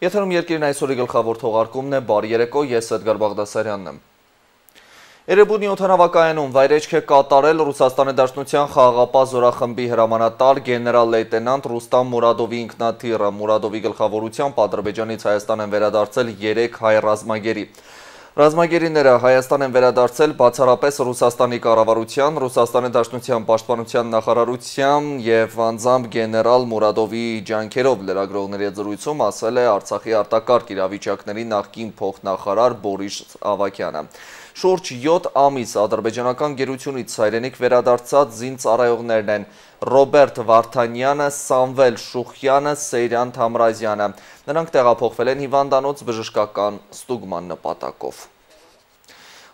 Եթերում երկիրն այսօրի գլխավոր թողարկումն է, բարի երեկո, ես Էդգար Բաղդասարյանն եմ։ Էրեբունի օդանավակայանում վայրեջք է կատարել Ռուսաստանի Դաշնության խաղաղապահ զորախմբի հրամանատար գեներալ լեյտենանտ Ռուստամ Մուրադովի ինքնաթիռը։ Մուրադովի գլխավորությամբ Ադրբեջանից Հայաստան են վերադարձել 3 հայ ռազմագերի։ Ռազմագերիները Հայաստան են վերադարձել բացառապես Ռուսաստանի կառավարության, Ռուսաստանի Դաշնության պաշտպանության նախարարության և անձամբ գեներալ Մուրադովի ջանքերով լրագրողների հետ զրույցում ասել է Արցախի արտակարգ իրավիճակների նախկին փոխնախարար Բորիս Ավագյանը։ Շուրջ 7 ամիս ադրբեջանական գերությունից հայրենիք վերադարձած զինծառայողներն են Ռոբերտ Վարդանյանը, Սամվել Շուխյանը, Սեյրան Թամրազյանը։ Նրանք տեղափոխվել են հիվանդանոց բժշկական ստուգման նպատակով։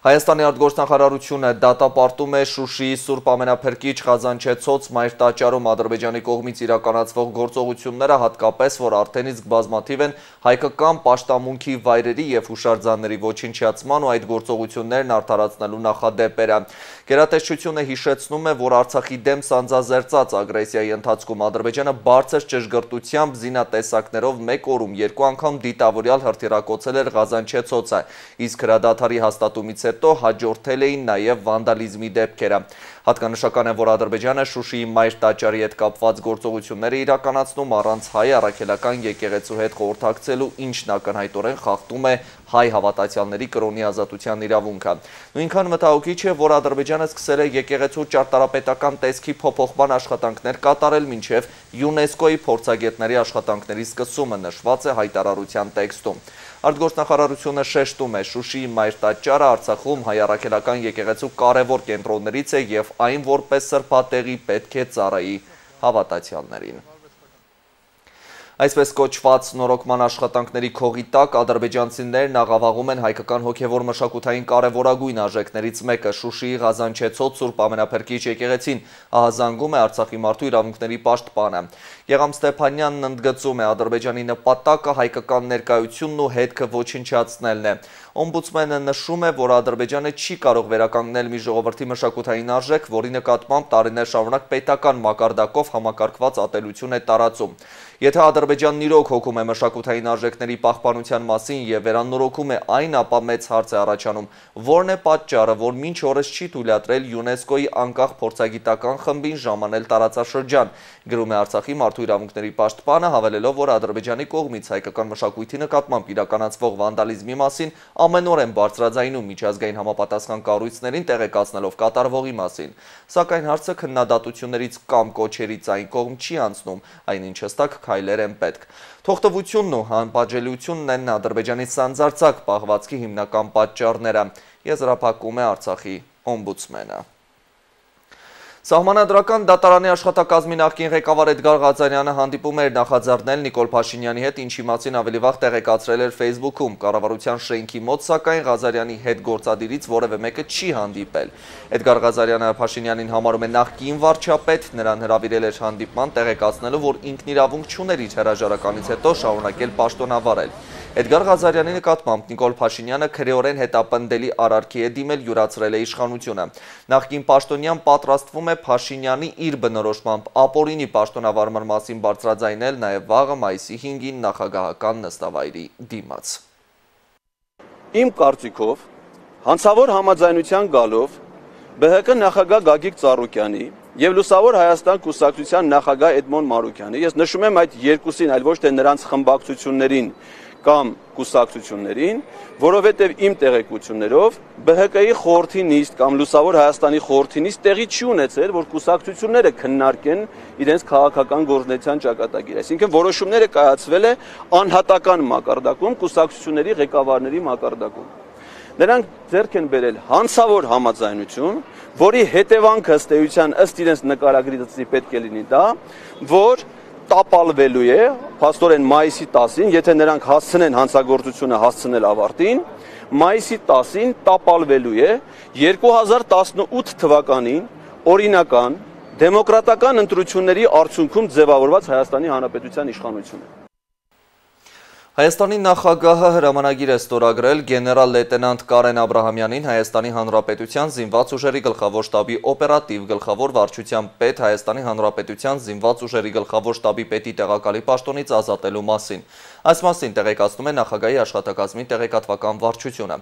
Հայաստանի արտգործնախարարությունը դատապարտում է Շուշիի Սուրբ Ամենափրկիչ Ղազանչեցոց մայր տաճարում Ադրբեջանի կողմից իրականացվող գործողությունները, հատկապես որ արդեն իսկ բազմաթիվ են հայկական պաշտամունքի վայրերի և հուշարձանների ոչնչացման ու այդ գործողություններն արդարացնելու նախադեպերը։ Գերատեսչությունը հիշեցնում է, որ Արցախի դեմ սանձազերծած ագրեսիայի ընթացքում Ադրբեջանը բարձր ճշգրտությամբ զինատեսակներով մեկ օրում 2 անգամ դիտավորյալ հրթիռակոծել էր Ղազանչեցոցը, իսկ հրադադարի հաստատումից հետո հաջորդել էին նաև վանդալիզմի դեպքերը։ Հատկանշական է, որ Ադրբեջանը Շուշիի մայր տաճարի հետ կապված գործողությունները իրականացնում առանց հայ առաքելական եկեղեցու հետ խորհրդակցելու, ինչն ակնհայտորեն խախտում է հայ հավատացյալների կրոնի ազատության իրավունքը։ Նույնքան մտահոգիչ է, որ Ադրբեջանը սկսել է եկեղեցու ճարտարապետական տեսքի փոփոխման աշխատանքներ կատարել մինչև ՅՈՒՆԵՍԿՕ-ի փորձագետների աշխատանքների սկսումը, նշված է հայտարարության տեքստում։ Արտգործնախարարությունը շեշտում է, Շուշիի մայր տաճարը Արցախում հայ առաքելական եկեղեցու կարևոր կենտրոններից է և այն որպես սրբատեղի պետք է ծառայի հավատացյալներին։ Այսպես կոչված նորոգման աշխատանքների քողի տակ ադրբեջանցիներն աղավաղում են հայկական հոգևոր մշակութային կարևորագույն արժեքներից մեկը Շուշիի Ղազանչեցոց Սուրբ Ամենափրկիչ եկեղեցին, ահազանգում է Արցախի մարդու իրավունքների պաշտպանը։ Եղամ Ստեփանյանն ընդգծում է, Ադրբեջանի նպատակը հայկական ներկայությունն ու հետքը ոչնչացնելն է։ Օմբուդսմենը նշում է, որ Ադրբեջանը չի կարող վերականգնել մի ժողովրդի մշակութային արժեք, որի նկատմամբ տարիներ շարունակ պետական մակարդակով համակարգված ատելություն է տարածում։ Եթե Ադրբեջանն իրոք հոգում է մշակութային արժեքների պահպանության մասին և վերանորոգում է այն, ապա մեծ հարց է առաջանում, որն է պատճառը, որ մինչ օրս չի թույլատրել ՅՈՒՆԵՍԿՕ-ի անկախ փորձագիտական խմբին ժամանել տարածաշրջան, գրում է Արցախի մարդու իրավունքների պաշտպանը, հավելելով, որ Ադրբեջանի կողմից հայկական մշակույթի նկատմամբ իրականացվող վանդալիզմի մասին ամենօրեն բարձրաձայնում միջազգային համապատասխան կառույցներին տեղեկացնելով կատարվողի մասին, սակայն հարցը քննադատություններից կամ կոչերից այն կողմ չի անցնում, այնինչ հստակ քայլեր են պետք։ Թողտվությունն ու անպատժելիությունն են Ադրբեջանի սանձարձակ պահվածքի հիմնական պատճառները, եզրափակում է Արցախի օմբուդսմենը։ Սահմանադրական դատարանի աշխատակազմի նախկին ղեկավար Էդգար Ղազարյանը հանդիպում էր նախաձեռնել Նիկոլ Փաշինյանի հետ, ինչի մասին ավելի վաղ տեղեկացրել էր Facebook-ում։ Կառավարության շենքի մոտ, սակայն Ղազարյանի հետ գործադիրից որևէ մեկը չի հանդիպել։ Էդգար Ղազարյանը Փաշինյանին համարում է նախկին վարչապետ, նրան հրավիրել էր հանդիպման, տեղեկացնելով, որ ինքն իրավունք չուներ իր հրաժարականից հետո շարունակել պաշտոնավարել։ Էդգար Ղազարյանի նկատմամբ Նիկոլ Փաշինյանը քրեորեն հետապնդելի արարքի է դիմել, յուրացրել է իշխանությունը։ Նախկին պաշտոնյան պատրաստվում է Փաշինյանի իր բնորոշմամբ ապօրինի պաշտոնավարման մասին բարձրաձայնել նաև վաղը մայիսի 5-ին նախագահական նստավայրի դիմաց։ Իմ կարծիքով հանցավոր համաձայնության գալով ԲՀԿ նախագահ Գագիկ Ծառուկյանի և Լուսավոր Հայաստան կուսակցության նախագահ Էդմոն Մանուկյանի, ես նշում եմ այդ երկուսին, այլ ոչ թե նրանց խմբակցություններին կամ կուսակցություններին, որովհետև իմ տեղեկություններով ԲՀԿ-ի խորհրդի նիստ կամ Լուսավոր Հայաստանի խորհրդի նիստ տեղի չի ունեցել, որ կուսակցությունները քննարկեն իրենց քաղաքական գործունեության ճակատագիրը։ Այսինքն որոշումները կայացվել է անհատական մակարդակում, կուսակցությունների ղեկավարների մակարդակում։ Նրանք ձեռք են բերել հանցավոր համաձայնություն, որի հետևանքը ըստ էության ըստ իրենց նկարագրի պետք է լինի դա, որ տապալվելու է, փաստորեն մայիսի 10-ին, եթե նրանք հասցնեն հանցագործությունը հասցնել ավարտին, մայիսի 10-ին տապալվելու է 2018 թվականին օրինական դեմոկրատական ընտրությունների արդյունքում ձևավորված Հայաստանի Հանրապետության իշխանությունը։ Հայաստանի նախագահը հրամանագիր է ստորագրել գեներալ լեյտենանտ Կարեն Աբրահամյանին Հայաստանի Հանրապետության զինված ուժերի գլխավոր շտաբի օպերատիվ գլխավոր վարչության պետ Հայաստանի Հանրապետության զինված ուժերի գլխավոր շտաբի պետի տեղակալի պաշտոնից ազատելու մասին։ Այս մասին տեղեկացնում է նախագահի աշխատակազմի տեղեկատվական վարչությունը։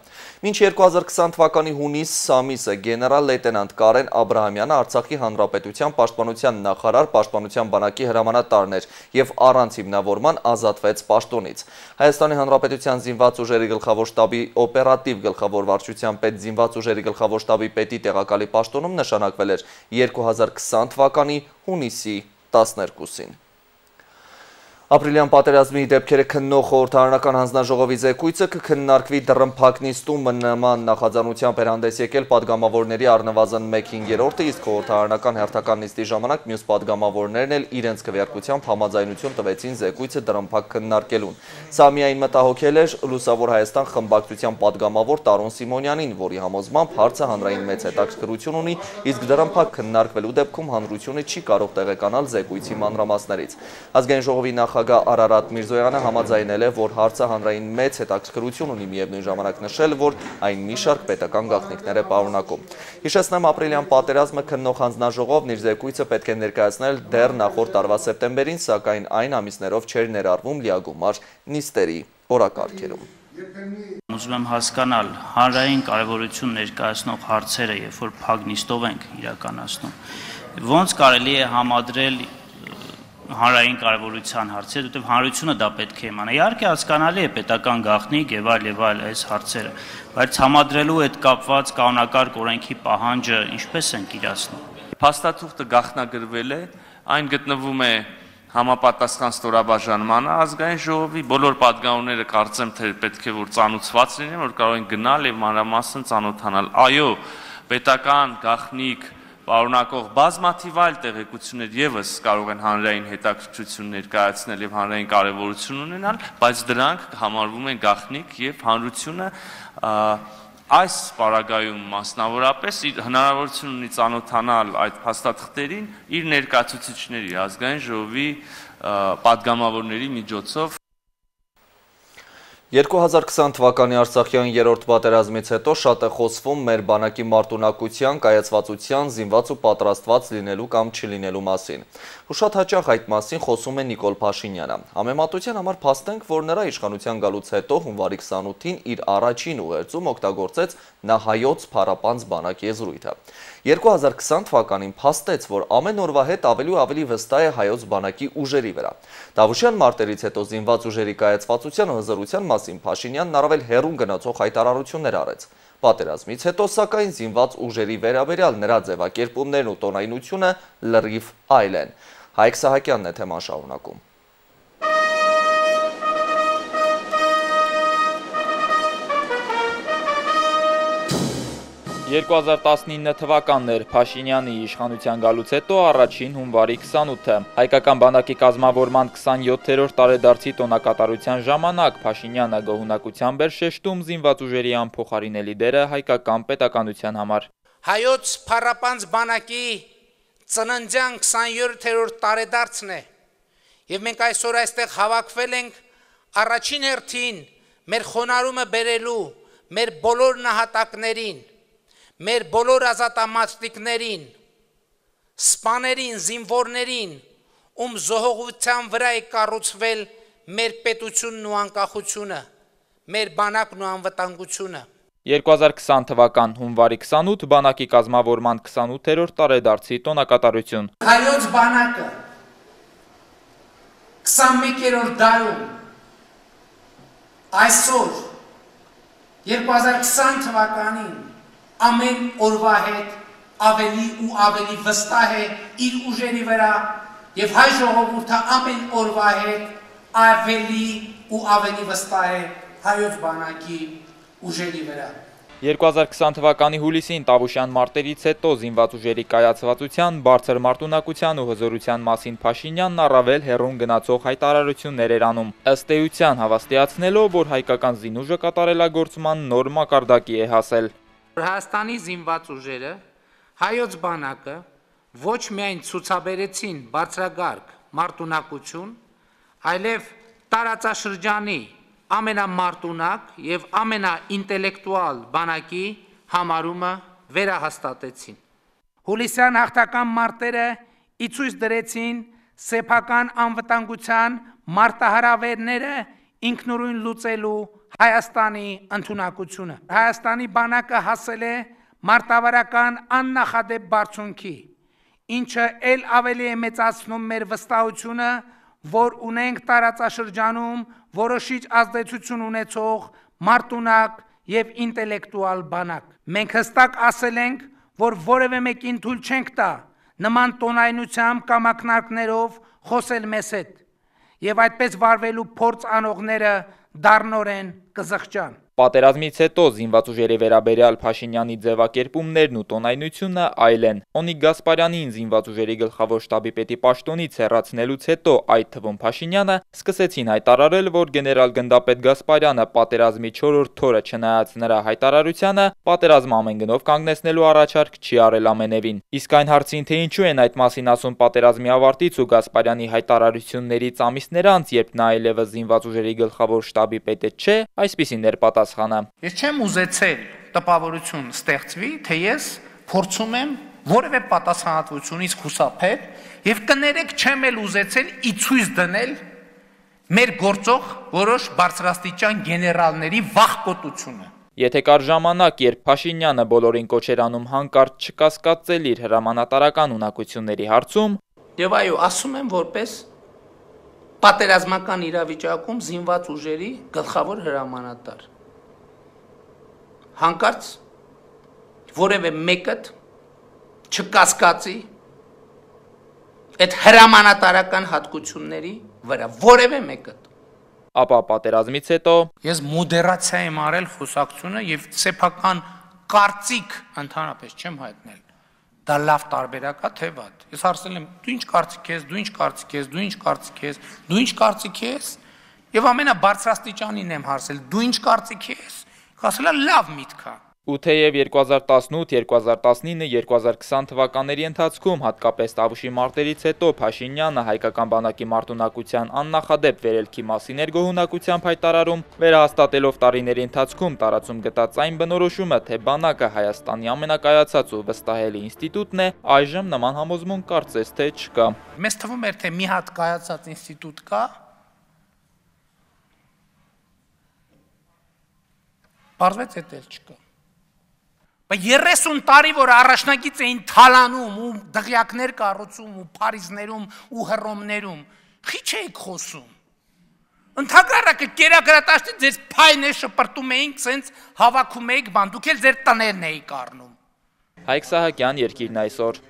Մինչ 2020 թվականի հունիս ամիսը գեներալ լեյտենանտ Կարեն Աբրահամյանը Արցախի Հանրապետության պաշտպանության նախարար պաշտպանության բանակի հրամանատարն էր եւ առանց հիմնավորման ազատվեց պաշտոնից։ Հայաստանի Հանրապետության զինված ուժերի գլխավոր շտաբի օպերատիվ գլխավոր վարչության պետ զինված ուժերի գլխավոր շտաբի պետի տեղակալի պաշտոնում նշանակվել էր 2020 թվականի հունիսի 12-ին։ Ապրիլյան պատերազմի դեպքերը քննող խորհրդարանական հանձնաժողովի զեկույցը կքննարկվի դռնփակ նիստում նման նախաձեռնությամբ էր հանդես եկել падգամավորների առնվազն 1/5-ը, իսկ խորհրդարանական հերթական նիստի ժամանակ մյուս падգամավորներն էլ իրենց քվեարկությամբ համաձայնություն տվեցին զեկույցը դռնփակ քննարկելուն։ Սա միայն մտահոգել էր Լուսավոր Հայաստան խմբակցության падգամավոր Տարոն Սիմոնյանին, որի համոզմամբ հարցը հանրային մեծ հետաքրքրություն ունի, իսկ դռնփակ քննարկվելու դեպքում հանրությունը չի կարող տեղեկանալ զեկույցի մանրամասներից։ Ազգային ժողովի նախագահ Արարատ Միրզոյանը համաձայնել է, որ հարցը հանրային մեծ հետաքրքրություն ունի, միևնույն ժամանակ նշել, որ այն մի շարք պետական գաղտնիքներ է պարունակում։ Հիշեցնեմ, ապրիլյան պատերազմը քննող հանձնաժողովն իր զեկույցը պետք է ներկայացնել դեռ նախորդ տարվա սեպտեմբերին, սակայն այն ամիսներով չէր ներառվում լիագումար նիստերի օրակարգերում։ Ուզում եմ հասկանալ հանրային կարևորություն ներկայացնող հարցերը, երբ որ փակ նիստով ենք իրականացնում, ոնց կարելի է համադրել հանրային կարևորության հարցեր, որտեղ հանրությունը դա պետք է իմանա։ Իհարկե հասկանալի է պետական գաղտնիք եւ այլ այս հարցերը, բայց համադրելու հետ կապված կանոնակարգ օրենքի պահանջը ինչպես ենք իրացնում։ Փաստաթուղթը գաղտնագրվել է, այն գտնվում է համապատասխան ստորաբաժանմանը, ազգային ժողովի բոլոր падգամավորները կարծեմ թե պետք է որ ծանոթված լինեն, որ կարող են գնալ եւ մանրամասն ծանոթանալ։ Այո, պետական գաղտնիք պարունակող բազմաթիվ այլ տեղեկություններ եւս կարող են հանրային հետաքրքրություն ներկայացնել եւ հանրային կարեւորություն ունենալ, բայց դրանք համարվում են գաղտնիք եւ հանրությունը այս պարագայում մասնավորապես հնարավորություն ունի ծանոթանալ այդ փաստաթղթերին իր ներկայացուցիչների, ազգային ժողովի падգամավորների միջոցով։ 2020 թվականի Արցախյան երրորդ պատերազմից հետո շատ է խոսվում մեր բանակի մարտունակության, կայացվածության, զինված ու պատրաստված լինելու կամ չլինելու մասին։ Ու շատ հաճախ այդ մասին խոսում է Նիկոլ Փաշինյանը։ Համեմատության համար փաստենք, որ նրա իշխանության գալուց հետո հունվարի 28-ին իր առաջին ուղերձում օգտագործեց նա հայոց փառապանծ բանակ եզրույթը։ 2020 թվականին փաստեց, որ ամեն օրվա հետ ավելի ու ավելի վստահ է հայոց բանակի ուժերի վրա։ Դավուշյան մարտերից հետո զինված ուժերի կայացվածության ու հզորության մասին Փաշինյանն առավել հեռուն գնացող հայտարարություններ արեց։ Պատերազմից հետո սակայն զինված ուժերի վերաբերյալ նրա ձևակերպումներն ու տոնայնությունը լրիվ այլ են։ Հայկ Սահակյանն է թեման շարունակում։ 2019 թվականն էր Փաշինյանի իշխանության գալուց հետո առաջին հունվարի 28-ը։ Հայկական բանակի կազմավորման 27-րդ տարեդարձի տոնակատարության ժամանակ Փաշինյանը գոհունակությամբ էր շեշտում զինված ուժերի անփոխարինելի դերը հայկական պետականության համար։ Հայոց փառապանծ բանակի ծննդյան 27-րդ տարեդարձն է, եւ մենք այսօր այստեղ հավաքվել ենք առաջին հերթին մեր խոնարհումը բերելու մեր բոլոր նահատակներին, մեր բոլոր ազատամարտիկներին, սպաներին, զինվորներին, ում զոհողության վրա է կառուցվել մեր պետությունն ու անկախությունը, մեր բանակն ու անվտանգությունը։ 2020 թվական հունվարի 28 բանակի կազմավորման 28-րդ տարեդարձի տոնակատարություն։ Հայոց բանակը 21-րդ դարում այսօր 2020 թվականին ամեն օրվա հետ ավելի ու ավելի վստահ է իր ուժերի վրա եւ հայ ժողովուրդը ամեն օրվա հետ ավելի ու ավելի վստահ է հայոց բանակի ուժերի վրա։ 2020 թվականի հուլիսին Տավուշյան մարտերից հետո զինված ուժերի կայացվածության, բարձր մարտունակության ու հզորության մասին Փաշինյանն առավել հեռուն գնացող հայտարարություններ էր անում, ըստ էության հավաստիացնելով, որ հայկական զինուժը կատարելագործման նոր մակարդակի է հասել։ Հայաստանի զինված ուժերը, հայոց բանակը ոչ միայն ցուցաբերեցին բարձրագարկ մարտունակություն, այլև տարածաշրջանի ամենամարտունակ եւ ամենաինտելեկտուալ բանակի համարումը վերահաստատեցին։ Հուլիսյան հաղթական մարտերը իցույց դրեցին սեփական անվտանգության մարտահրավերները ինքնուրույն լուծելու Հայաստանի ընդունակությունը։ Հայաստանի բանակը հասել է մարտավարական աննախադեպ բարձունքի, ինչը ել ավելի է մեծացնում մեր վստահությունը, որ ունենք տարածաշրջանում որոշիչ ազդեցություն ունեցող մարտունակ եւ ինտելեկտուալ բանակ։ Մենք հստակ ասել ենք, որ որևէ մեկին թույլ չենք տա նման տոնայնությամբ կամ ակնարկներով խոսել մեզ հետ, եւ այդպես վարվելու փորձ անողները դառնորեն կզղջան։ Պատերազմից հետո զինված ուժերի վերաբերյալ Փաշինյանի ձևակերպումներն ու տոնայնությունը այլ են։ Օնիկ Գասպարյանին զինված ուժերի գլխավոր շտաբի պետի պաշտոնից հեռացնելուց հետո, այդ թվում Փաշինյանը, սկսեցին հայտարարել, որ գեներալ գնդապետ Գասպարյանը պատերազմի 4-րդ օրը չնայած նրա հայտարարությանը, պատերազմը ամեն գնով կանգնեցնելու առաջարկ չի արել ամենևին։ Իսկ այն հարցին, թե ինչու են այդ մասին ասում պատերազմի ավարտից ու Գասպարյանի հայտարարություններից ամիսներ անց, երբ նա այլևս զինված ուժերի գլխավոր շտաբի պետը չէ, այսպիսին էր պատասխանը. Ես չեմ ուզեցել տպավորություն ստեղծվի, թե ես փորձում եմ որևէ պատասխանատվությունից խուսափել եւ կներեք չեմ էլ ուզեցել իցույց դնել մեր գործող որոշ բարձրաստիճան գեներալների վախկոտությունը։ Եթե կար ժամանակ, երբ Փաշինյանը բոլորին կոչ էր անում հանկարծ չկասկածել իր հրամանատարական ունակությունների հարցում, եւ այո, ասում եմ որպես պատերազմական իրավիճակում զինված ուժերի գլխավոր հրամանատար։ Հանկարծ որևէ մեկը չկասկածի այդ հրամանատարական հատկությունների վրա, որևէ մեկը։ Ապա պատերազմից հետո ես մոդերացիա եմ արել խոսակցությունը եւ սեփական կարծիք ընդհանրապես չեմ հայտնել։ Դա լավ տարբերակ է, թե վատ։ Ես հարցնել եմ, դու ինչ կարծիք ես, դու ինչ կարծիք ես, դու ինչ կարծիք ես, դու ինչ կարծիք ես, եւ ամենաբարձրաստիճանին եմ հարցել, դու ինչ կարծիք ես։ Ասել է լավ միտք է։ Ու թեև 2018, 2019, 2020 թվականների ընթացքում, հատկապես Տավուշի մարտերից հետո Փաշինյանը հայկական բանակի մարտունակության աննախադեպ վերելքի մասին էր գոհունակությամբ հայտարարում, վերահաստատելով տարիների ընթացքում տարածում գտած այն բնորոշումը, թե բանակը Հայաստանի ամենակայացած ու վստահելի ինստիտուտն է, այժմ նման համոզմունք կարծես թե չկա։ Մեզ թվում էր, թե մի հատ կայացած ինստիտուտ կա, պարզվեց էդ էլ չկա։ 30 տարի, որ առաջնակից էին թալանում ու դղյակներ կառուցում ու Փարիզներում ու Հռոմներում, խիչ էիք խոսում։ Ընդհակառակը կերակրատաշտի ձեր փայնը շպրտում էինք, սենց հավաքում էիք բան, դուք էլ ձեր տներն էիք առնում։ Հայկ Սահակյան, Երկիրն այսօր։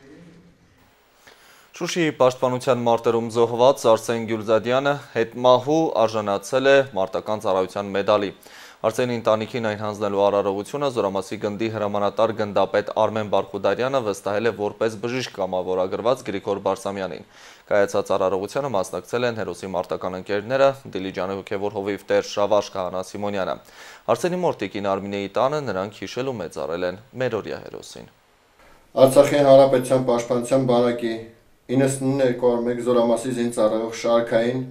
Շուշիի պաշտպանության մարտերում զոհված Արսեն Գյուլզադյանը հետմահու արժանացել է մարտական ծառայության մեդալի։ Արսենի ընտանիքին այն հանձնելու արարողությունը Զորամասի գնդի հրամանատար գնդապետ Արմեն Բարխուդարյանը վստահել է որպես բժիշկ կամավորագրված Գրիգոր Բարսամյանին։ Կայացած արարողությանը մասնակցել են հերոսի մարտական ընկերները Դիլիջանի հոգևոր հովիվ տեր Շավարժ Քահանա Սիմոնյանը։ Արսենի մոր տիկին Արմինեի տանը նրանք հիշել ու մեծարել են մերօրյա հերոսին։ Արցախի հանրապետության պաշտպանության բանակի 9901 Զորամասի զինծառայող շարքային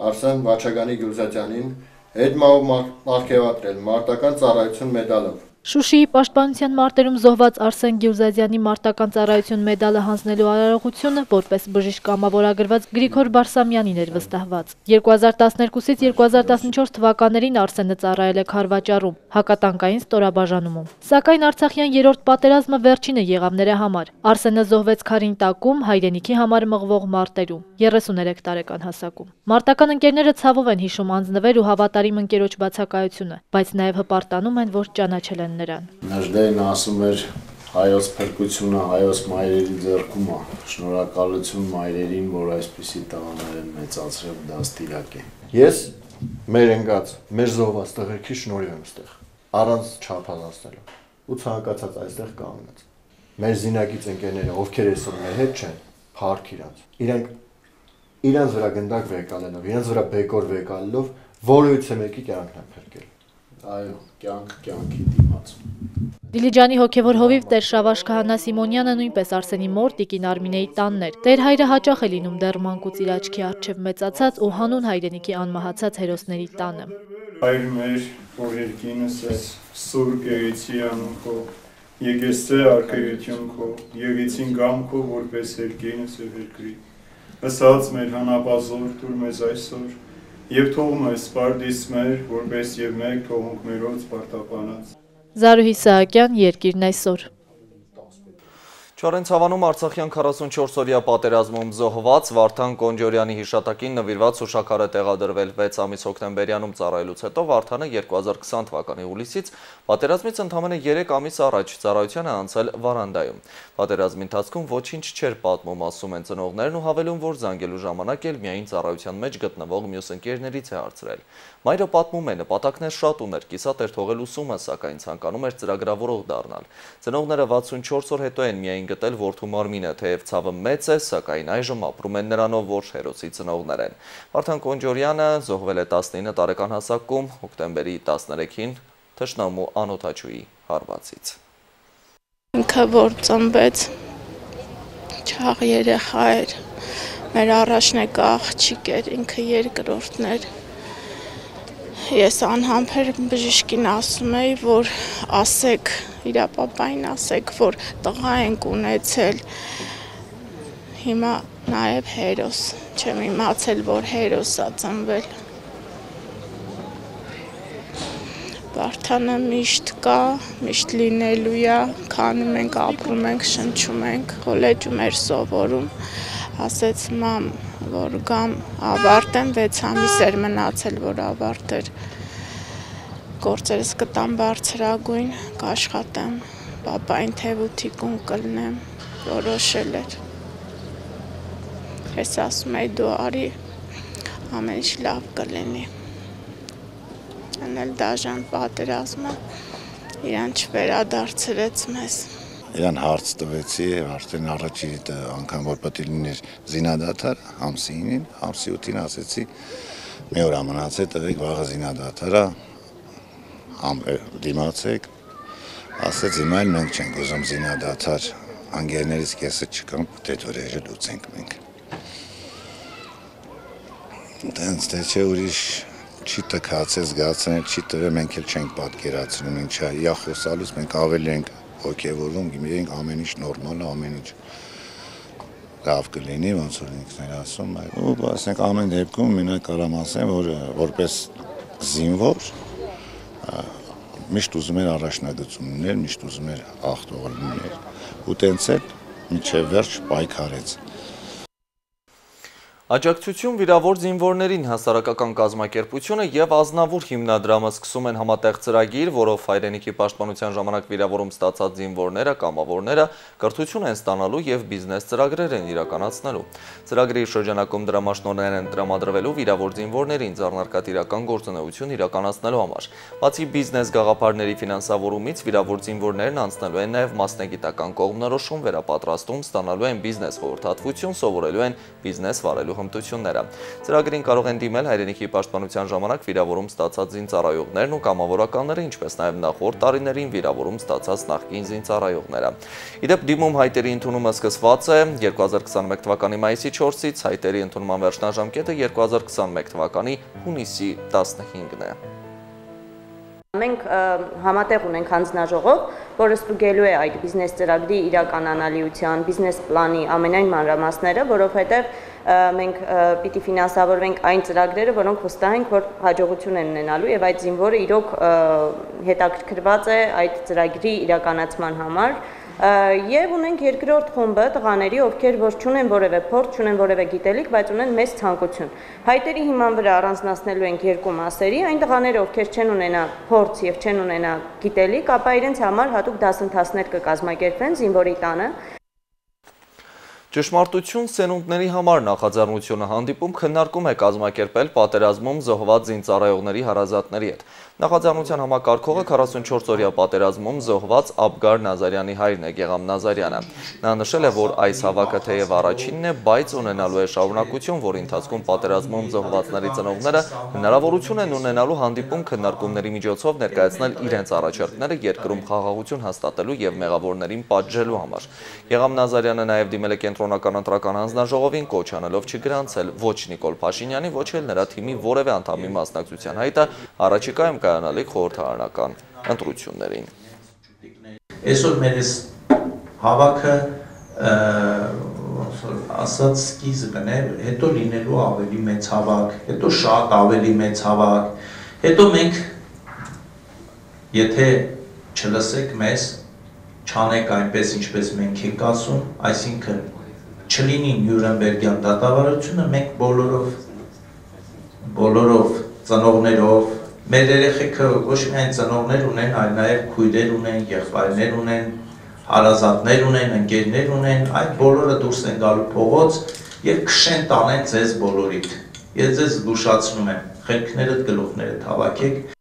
Արսեն Վաչագանի Գյուլզադյանին հետմահու մարգևատրել մարտական ծառայություն մեդալով։ Շուշիի պաշտպանության մարտերում զոհված Արսեն Գյուլզադյանի մարտական ծառայություն մեդալը հանձնելու արարողությունը որպես բժիշկ կամավորագրված Գրիգոր Բարսամյանին էր վստահված։ 2012-ից 2014 թվականներին Արսենը ծառայել է Քարվաճառում, հակատանկային ստորաբաժանումում։ Սակայն Արցախյան երրորդ պատերազմը վերջինը եղավ նրա համար։ Արսենը զոհվեց Քարինտակում, հայրենիքի համար մղվող մարտերում, 33 տարեկան հասակում։ Մարտական ընկերները ցավով են հիշում անձնվեր ու հավատարիմ ընկերոջ բացակայությունը, բայց նաև հպարտանում են, որ ճանաչել են նրան։ Նժդեին ասում էր հայոց փրկությունը հայոց մայրերի ձեռքում է։ Շնորհակալություն մայրերին, որ այսպիսի տղաներ են մեծացրել, դաստիարակ է։ Ես մեր ընկած, մեր զոհված տղերքի շնորհիվ եմ ստեղ, առանց չափազանցնելու։ Ու ցանկացած այստեղ կանգնած։ Մեր զինակից ընկերները, ովքեր այսօր մեր հետ չեն, փառք իրանց։ Իրանց վրա գնդակ վեկալելով, իրանց վրա բեկոր վեկալելով, որևիցե մեկի կյանքն է փրկել։ Այո, կյանքի դիմաց։ Դիլիջանի հոգևոր հովիվ տեր Շավարժ Քահանա Սիմոնյանը նույնպես Արսենի մոր տիկին Արմինեի տանն էր։ Տեր հայրը հաճախ է լինում դեռ մանկուց իր աչքի առջև մեծացած ու հանուն հայրենիքի անմահացած հերոսների տանը։ Այր մեր, որ երկինս ես, սուր գեղեցի անուն քո, եկեսցե արկայություն քո, եղեցին գամ քո, որպես երկինս և երկրի։ Ասած մեր հանապազոր տուր մեզ այսօր, և թող մեզ սպարդիս մեր, որպես և մեկ թողունք մերոց պարտապանած։ Զարուհի Սահակյան, Երկիրն այսօր։ Չորենցավանում Արցախյան 44-օրյա պատերազմում զոհված Վարդան Կոնջորյանի հիշատակին նվիրված հուշաքար է տեղադրվել 6 ամիս հոկտեմբերյանում ծառայելուց հետո Վարդանը 2020 թվականի հուլիսից պատերազմից ընդամենը 3 ամիս առաջ ծառայության է անցել Վարանդայում։ Պատերազմի ընթացքում ոչինչ չէր պատմում, ասում են ծնողներն ու հավելում, որ զանգելու ժամանակ էլ միայն ծառայության մեջ գտնվող մյուս ընկերներից է հարցրել։ Մայրը պատմում է, նպատակներ շատ ուներ, կիսատ էր թողել ուսումը, սակայն ցանկանում էր ծրագրավորող դառնալ։ Ծնողները 64 օր հետո են միայն գտել որդու մարմինը, թեև ցավը մեծ է, սակայն այժմ ապրում են նրանով, որ հերոսի ծնողներ են։ Վարդան Կոնջորյանը զոհվել է 19 տարեկան հասակում հոկտեմբերի 13-ին թշնամու անօդաչուի հարվածից։ Ինքը որ ծնվեց չաղ երեխա էր, մեր առաջնեկա աղջիկ էր, ինքը երկրորդն էր։ Ես անհամբեր բժիշկին ասում էի, որ ասեք, իր պապային ասեք, որ տղա ենք ունեցել, հիմա նաև հերոս, չեմ իմացել, որ հերոս ա ծնվել։ Վարդանը միշտ կա, միշտ լինելու է, քանի մենք ապրում ենք, շնչում ենք, կոլեջում էր սովորում, ասեց մամ, որ գամ ավարտեմ, 6 ամիս էր մնացել, որ ավարտեր, գործերս կտամ բարձրագույն, կաշխատեմ, պապային թևութիկուն կլնեմ, որոշել էր։ Ես ասում էի դու արի, ամեն ինչ լավ կլինի։ Անել դաժան պատերազմը իրան չվերադարձրեց մեզ։ Իրան հարց տվեցի, արդեն առաջի անգամ որ պետք է լիներ զինադադար, ամսի 9-ին, ամսի 8-ին ասեցի, մի օր մնացել տվեք վաղը զինադադարա, դիմացեք, ասեց հիմա էլ մենք չենք ուզում զինադադար, անգերներից կեսը չկան, տետորերը լուծենք մենք։ Դենց թե չէ ուրիշ չի տքացել, զգացել, չի տվել, մենք էլ չենք պատկերացնում ինչա, իա խոսալուց մենք ավելի ենք հոգևորում, գիմենք ամեն ինչ նորմալ է, ամեն ինչ լավ կլինի, ոնց որ ինքն էր ասում, ու ասենք ամեն դեպքում մենակ կարամ ասեմ, որ որպես զինվոր միշտ ուզում էր առաջնագծումներ, միշտ ուզում էր ախտողներ, ու տենց էլ մինչև վերջ պայքարեց։ Աջակցություն վիրավոր զինվորներին հասարակական կազմակերպությունը և Ազնավուր հիմնադրամը սկսում են համատեղ ծրագիր, որով հայրենիքի պաշտպանության ժամանակ վիրավորում ստացած զինվորները, կամավորները կրթություն են ստանալու և բիզնես ծրագրեր են իրականացնելու։ Ծրագրի շրջանակում դրամաշնորհներ են տրամադրվելու վիրավոր զինվորներին ձեռնարկատիրական գործունեություն իրականացնելու համար։ Բացի բիզնես գաղափարների ֆինանսավորումից, վիրավոր զինվորներն անցնելու են նաև մասնագիտական կողմնորոշում, վերապատրաստում, ստանալու են բիզնես խորհրդատվություն, սովորելու են բիզնես վարելու հմտությունները։ Ծրագրին կարող են դիմել հայրենիքի պաշտպանության ժամանակ վիրավորում ստացած զինծառայողներն ու կամավորականները, ինչպես նաև նախորդ տարիներին վիրավորում ստացած նախկին զինծառայողները։ Իդեպ դիմում հայտերի ընդունումը սկսված է 2021 թվականի մայիսի 4-ից, հայտերի ընդունման վերջնաժամկետը 2021 թվականի հունիսի 15-ն է։ Մենք համատեղ ունենք հանձնաժողով, որը ստուգելու է այդ բիզնես ծրագրի իրականանալիության, բիզնես պլանի ամենայն մանրամասները, որովհետև մենք պիտի ֆինանսավորվենք այն ծրագրերը, որոնք վստահ ենք, որ հաջողություն են ունենալու եւ այդ զինվորը իրոք հետաքրքրված է այդ ծրագրի իրականացման համար։ Եվ ունենք երկրորդ խումբը տղաների, ովքեր որ չունեն որևէ փորձ, չունեն որևէ գիտելիք, բայց ունեն մեծ ցանկություն։ Հայտերի հիման վրա առանձնացնելու ենք երկու մասերի, այն տղաները, ովքեր չեն ունենա փորձ եւ չեն ունենա գիտելիք, ապա իրենց համար հատուկ դասընթացներ կկազմակերպվեն զինվորի տանը։ Ճշմարտություն սերունդների համար նախաձեռնությունը հանդիպում քննարկում է կազմակերպել պատերազմում զոհված զինծառայողների հարազատների հետ։ Նախաձեռնության համակարգողը 44-օրյա պատերազմում զոհված Աբգար Նազարյանի հայրն է Գեղամ Նազարյանը։ Նա նշել է, որ այս հավաքը թեև առաջինն է, բայց ունենալու է շարունակություն, որի ընթացքում պատերազմում զոհվածների ծնողները հնարավորություն են ունենալու հանդիպում քննարկումների միջոցով ներկայացնել իրենց առաջարկները երկրում խաղաղություն հաստատելու և մեղավորներին պատժելու համար։ Գեղամ Նազարյանը նաև դիմել է կենտրոնական ընտրական հանձնաժողովին, կոչ անելով չգրանցել ոչ Նիկոլ Փաշինյանի, ոչ էլ նրա թիմի որևէ անդամի մասնակցության հայտը առաջիկայում կայանալիք խորհրդարանական ընտրություններին։ Այսօր մեր հավաքը ասած սկիզբն է, հետո լինելու ավելի մեծ հավաք, հետո շատ ավելի մեծ հավաք, հետո մենք, եթե չլսեք մեզ, չանեք այնպես, ինչպես մենք ենք ասում, այսինքն չլինի Նյուրնբերգյան դատավարությունը, մենք բոլորով ծնողներով, մեր երեխեքը ոչ միայն ծնողներ ունեն, այլ նաև քույրեր ունեն, եղբայրներ ունեն, հարազատներ ունեն, ընկերներ ունեն, այդ բոլորը դուրս են գալու փողոց եւ քշեն տանեն ձեզ բոլորիդ։ Ես ձեզ զգուշացնում եմ, խելքներդ գլուխներդ հավաքեք։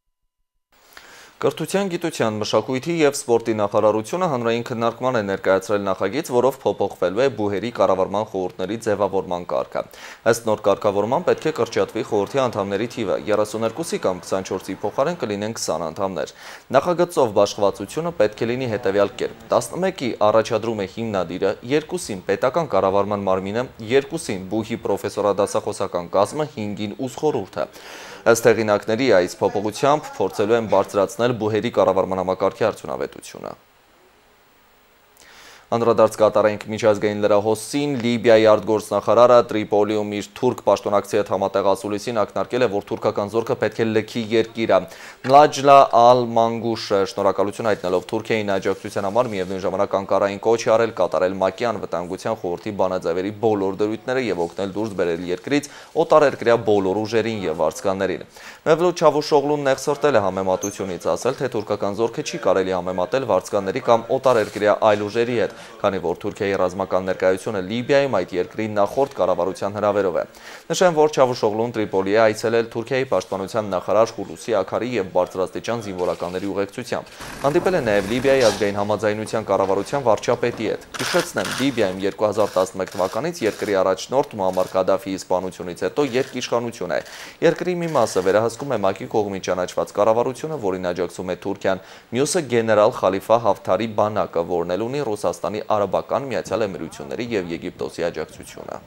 Կրթության, գիտության, մշակույթի և սպորտի նախարարությունը հանրային քննարկման է ներկայացրել նախագիծ, որով փոփոխվելու է բուհերի կառավարման խորհուրդների ձևավորման կարգը։ Ըստ նոր կարգավորման պետք է կրճատվի խորհրդի անդամների թիվը 32-ի կամ 24-ի փոխարեն կլինեն 20 անդամներ։ Նախագծով բաշխվածությունը պետք է լինի հետևյալ կերպ. 11-ի առաջադրում է հիմնադիրը, 2-ին պետական կառավարման մարմինը, 2-ին բուհի պրոֆեսորադասախոսական կազմը, 5-ին ուժխորհուրդը։ Ըստ հեղինակների այս փոփոխությամբ փորձելու են բարձրացնել բուհերի կառավարման համակարգի արդյունավետությունը։ Անդրադարձ կատարենք միջազգային լրահոսին, Լիբիայի արտգործնախարարը Տրիպոլիում իր թուրք պաշտոնակցի հետ համատեղ ասուլիսին ակնարկել է, որ թուրքական զորքը պետք է լքի երկիրը։ Նլաջլա Ալ-Մանգուշը շնորհակալություն հայտնելով Թուրքիային աջակցության համար միևնույն ժամանակ Անկարային կոչ է արել կատարել ՄԱԿ-ի անվտանգության խորհրդի բանաձևերի բոլոր դրույթները եւ օգնել դուրս բերել երկրից օտարերկրյա բոլոր ուժերին եւ վարձկաններին։ Մևլութ Չավուշօղլուն նեղսրտել է համեմատությունից, ասել, թե թուրքական զորքը չի կարելի համեմատել վարձկանների կամ օտարերկրյա այլ ուժերի հետ, քանի որ Թուրքիայի ռազմական ներկայությունը Լիբիայում այդ երկրի նախորդ կառավարության հրավերով է։ Նշեմ, որ Չավուշօղլուն Տրիպոլի է այցելել Թուրքիայի պաշտպանության նախարար Հուլուսի Աքարի եւ բարձրաստիճան զինվորականների ուղեկցությամբ։ Հանդիպել է նաև Լիբիայի ազգային համաձայնության կառավարության վարչապետի հետ։ Հիշեցնեմ, Լիբիայում 2011 թվականից երկրի առաջնորդ Մուամմար Կադաֆիի սպանությունից հետո երկիշխանություն է։ Երկրի մի մասը վերահսկում է ՄԱԿ-ի կողմից ճանաչված կառավարությունը, որին աջակցում է Թուրքիան, մյուսը գեներալ Խալիֆա Հաֆթարի բանակը, որն էլ ունի Ռուսաստանի Արաբական Միացյալ Էմիրությունների եւ Եգիպտոսի աջակցությունը։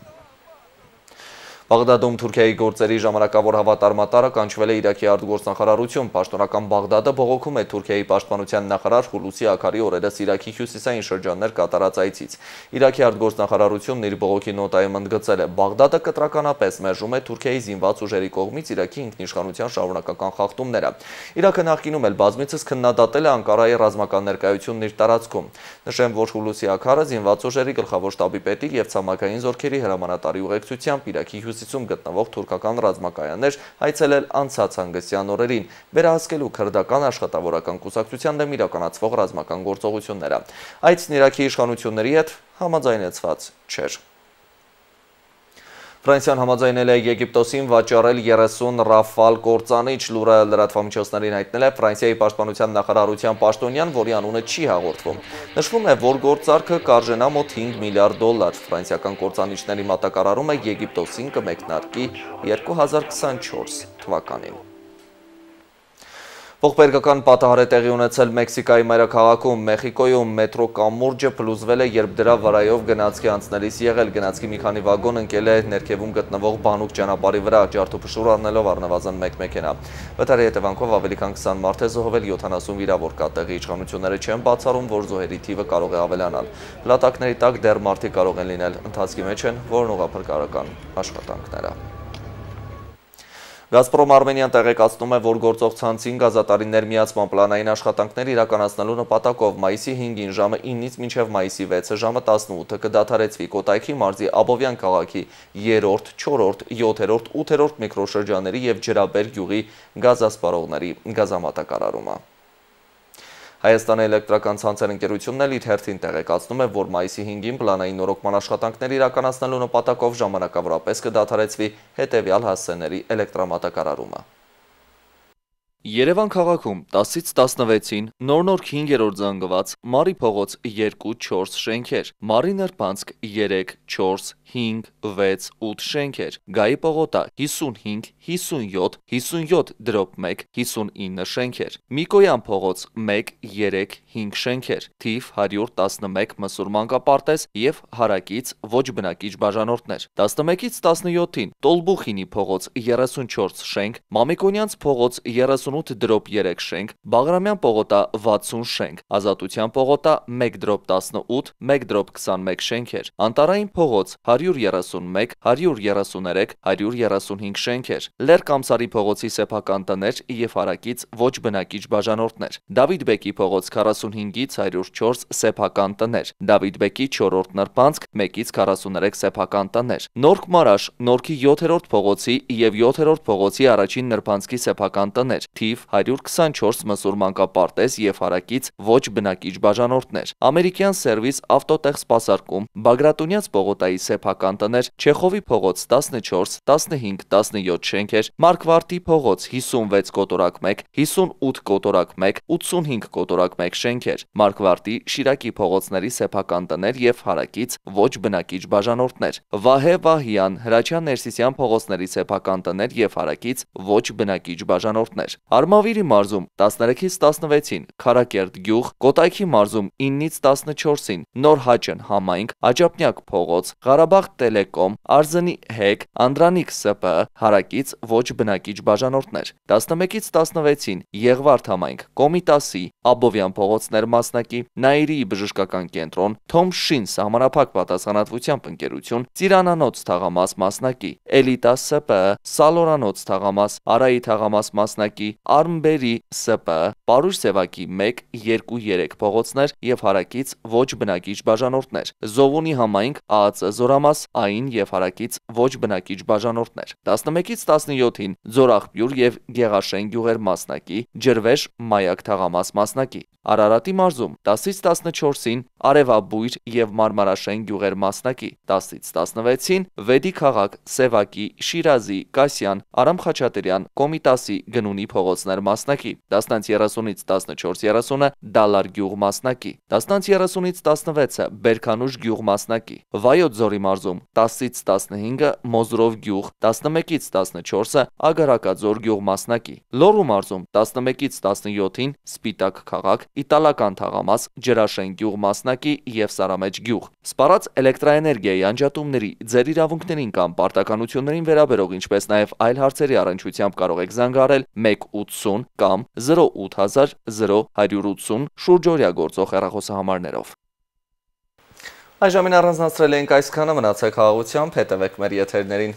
Բաղդադում Թուրքիայի գործերի ժամանակավոր հավատարմատարը կանչվել է Իրաքի արտգործնախարարություն։ Պաշտոնական Բաղդադը բողոքում է Թուրքիայի պաշտպանության նախարար Հուլուսի Աքարի օրերս Իրաքի հյուսիսային շրջաններ կատարած այցից։ Իրաքի արտգործնախարարությունն իր բողոքի նոտայում ընդգծել է. Բաղդադը կտրականապես մերժում է Թուրքիայի զինված ուժերի կողմից Իրաքի ինքնիշխանության շարունակական խախտումները։ Իրաքը նախկինում էլ բազմիցս քննադատել է Անկարայի ռազմական ներկայությունն իր տարածքում։ Նշեմ, որ Հուլուսի Աքարը զինված ուժերի գլխավոր շտաբի պետի եւ ցամաքային զորքերի հրամանատարի ուղեկցությամբ Իրաքի հյուսիսում գտնվող թուրքական ռազմակայաններ այցելել անցած հանգստյան օրերին, վերահսկելու քրդական աշխատավորական կուսակցության դեմ իրականացվող ռազմական գործողությունները։ Այցն Իրաքի իշխանությունների հետ համաձայնեցված չէր։ Ֆրանսիան համաձայնել է Եգիպտոսին վաճառել 30 Ռաֆալ կործանիչ, լուրը լրատվամիջոցներին հայտնել է Ֆրանսիայի պաշտպանության նախարարության պաշտոնյան, որի անունը չի հաղորդվում։ Նշվում է, որ գործարքը կարժենա մոտ 5 միլիարդ դոլար։ Ֆրանսիական կործանիչների մատակարարումը Եգիպտոսին կմեկնարկի 2024 թվականին։ Ողբերգական պատահար է տեղի ունեցել Մեքսիկայի մայրաքաղաքում։ Մեխիկոյում մետրո կամուրջը փլուզվել է, երբ դրա վրայով գնացքի անցնելիս եղել։ Գնացքի մի քանի վագոն ընկել է ներքևում գտնվող բանուկ ճանապարհի վրա, ջարդուփշուր առնելով առնվազն 1 մեքենա։ Վթարի հետևանքով ավելի քան 20 մարդ է զոհվել, 70 վիրավոր կա։ Տեղի իշխանությունները չեն բացառում, որ զոհերի թիվը կարող է ավելանալ։ Փլատակների տակ դեռ մարդիկ կարող են լինել, ընթացքի մեջ են որոնողափրկարարական աշխատանքները։ Գազպրոմ Արմենիան տեղեկացնում է, որ գործող ցանցին գազատարիներ միացման պլանային աշխատանքներ իրականացնելու նպատակով մայիսի 5-ին ժամը 9-ից մինչև մայիսի 6-ը ժամը 18-ը կդադարեցվի Կոտայքի մարզի Աբովյան քաղաքի 3-րդ, 4-րդ, 7-րդ, 8-րդ միկրոշրջանների եւ Ջրաբեր գյուղի գազասպառողների գազամատակարարումը։ Հայաստանի էլեկտրական ցանցեր ընկերությունն էլ իր հերթին տեղեկացնում է, որ մայիսի 5-ին պլանային նորոգման աշխատանքներ իրականացնելու նպատակով ժամանակավորապես կդադարեցվի հետևյալ հասցեների էլեկտրամատակարարումը։ Երևան քաղաքում 10-ից 16-ին նոր 5-րդ զանգված Մարի փողոց 2-4 շենքեր, Մարի նրբանցք 3, 4, 5, 6, 8 շենքեր, Գայի պողոտա 55, 57, 57/1, 59 շենքեր, Միկոյան փողոց 1, 3, 5 շենքեր, թիվ 111 մսուր մանկապարտեզ և հարակից ոչ բնակիչ բաժանորդներ, 11-ից 17-ին Տոլբուխինի փողոց 34 շենք, Մամիկոնյանց փողոց 38/3 շենք, Բաղրամյան պողոտա 60 շենք, Ազատության պողոտա 1/18, 1/21 շենքեր, Անտարային փողոց 131, 133, 135 շենքեր, Լեռ-Կամսարի փողոցի սեփական տներ և հարակից ոչ բնակիչ բաժանորդներ, Դավիթ Բեկի փողոց 45-ից 104 սեփական տներ, Դավիթ Բեկի 4-րդ նրբանցք 1-ից 43 սեփական տներ, Նորք Մարաշ, Նորքի 7-րդ փողոցի և 7-րդ փողոցի առաջին նրբանցքի սեփական տներ, թիվ 124 մսուր մանկապարտեզ և հարակից ոչ բնակիչ բաժանորդներ, Ամերիկյան սերվիս ավտոտեղ սպասարկում, Բագրատունյաց պողոտայի սեփական տներ, Չեխովի փողոց 14, 15, 17 շենքեր, Մարկվարտի փողոց 56 կոտորակ 1, 58 կոտորակ 1, 85 կոտորակ 1 շենքեր, Մարկվարտի Շիրակի փողոցների սեփական տներ և հարակից ոչ բնակիչ բաժանորդներ, Վահե Վահյան, Հրաչյան Ներսիսյան փողոցների սեփական տներ և հարակից ոչ բնակիչ բաժանորդներ, Արմավիրի մարզում 13-ից 16-ին Քարակերտ գյուղ, Կոտայքի մարզում 9-ից 14-ին Նոր Հաճն համայնք, Աջափնյակ փողոց, Ղարաբաղ Տելեկոմ, Արզնի հեկ, Անդրանիկ ՍՊ, հարակից ոչ բնակիչ բաժանորդներ, 11-ից 16-ին Եղվարդ համայնք, Կոմիտասի, Աբովյան փողոցներ մասնակի, Նաիրիի բժշկական կենտրոն, Թոմշին սահմանափակ պատասխանատվությամբ ընկերություն, Ծիրանանոց թաղամաս մասնակի, Էլիտա ՍՊ, Սալորանոց թաղամաս, Արայի թաղամաս մասնակի, Արմբերի ՍՊ, Պարուշ Սևակի 1, 2, 3 փողոցներ և հարակից ոչ բնակիչ բաժանորդներ, Զովունի համայնք, ԱԱԾ Զորամաս, Այն և հարակից ոչ բնակիչ բաժանորդներ, 11-ից 17-ին Ձորաղբյուր և Գեղաշեն գյուղեր մասնակի, Ջրվեժ Մայակ թաղամաս մասնակի, Արարատի մարզում 10-ից 14-ին Արևաբույր և Մարմարաշեն գյուղեր մասնակի, 10-ից 16-ին Վեդի քաղաք, Սևակի, Շիրազի, Կասյան, Արամ Խաչատրյան, Կոմիտասի գնունի փողոցներ մասնակի, 10-30-ից 14-30-ը Դալար գյուղ մասնակի, 10-30-ից 16-ը Բերքանուշ գյուղ մասնակի, Վայոց Ձորի մարզում 10-ից 15-ը Մոզրով գյուղ, 11-ից 14-ը Ագարակաձոր գյուղ մասնակի, Լոռու մարզում 11-ից 17-ին Սպիտակ քաղաք, Իտալական թաղամաս, Ջրաշեն գյուղ մասնակի և Սարամեջ գյուղ, սպառած էլեկտրաէներգիայի անջատումների, ձեր իրավունքներին կամ պարտականություններին վերաբերող, ինչպես նաև այլ հարցերի առնչությամբ կարող եք զանգահարել 180 կամ 08000 0180 շուրջօրյա գործող հեռախոսահամարներով։ Այժմին առանձնացրել ենք այսքանը, մնացեք խաղաղությամբ, հետևեք մեր եթերներին։